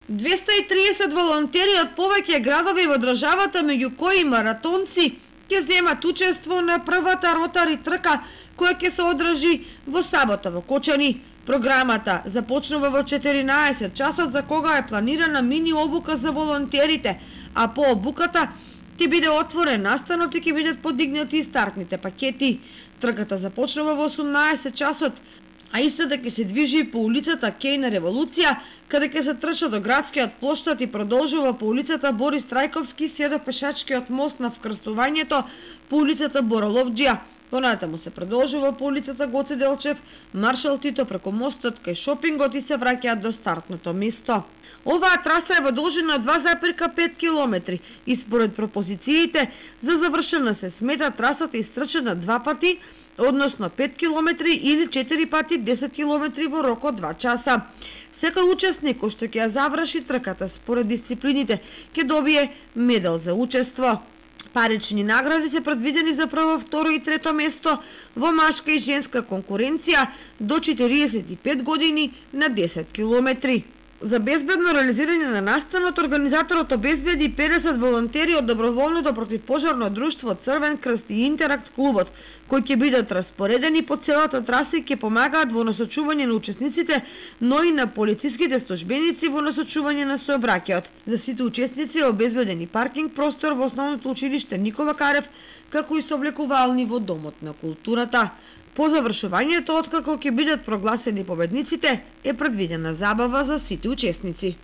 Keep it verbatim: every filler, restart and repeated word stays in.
двеста и триесет волонтери од повеќе градови во државата, меѓу кои маратонци, ќе земат учество на првата ротари трка која ќе се одржи во сабота во Кочани. Програмата започнува во четиринаесет часот, за кога е планирана мини обука за волонтерите, а по обуката ќе биде отворен настанот и ќе бидат подигнати стартните пакети. Трката започнува во осумнаесет часот, а истата ќе се движи по улицата Кеј на Револуција, каде ќе се трча до градскиот плоштад и продолжува по улицата Борис Трајковски се до пешачкиот мост на вкрстувањето по улицата Бороловџија. Понатаму се продолжува по улицата Гоце Делчев, Маршал Тито преку мостот кај шопингот и се враќаат до стартното место. Оваа траса е во должина два запирка пет километри и според пропозициите за завршена се смета трасата истрчена два пати, односно пет километри или четири пати десет километри во рок од два часа. Секој учесник кој што ќе ја заврши трката според дисциплините ќе добие медал за учество. Парични награди се предвидени за прво, второ и трето место во машка и женска конкуренција до четириесет и пет години на десет километри. За безбедно реализирање на настанот, организаторот обезбеди педесет волонтери од доброволното противпожарно друштво Црвен крст и Интеракт клубот, кои ќе бидат распоредени по целата траса и ќе помагаат во насочување на учесниците, но и на полициските службеници во насочување на сообраќајот. За сите учесници е обезбеден и паркинг простор во основното училиште Никола Карев, како и сооблекувални во Домот на културата. По завршувањето, откако ќе бидат прогласени победниците, е предвидена забава за сите учесници.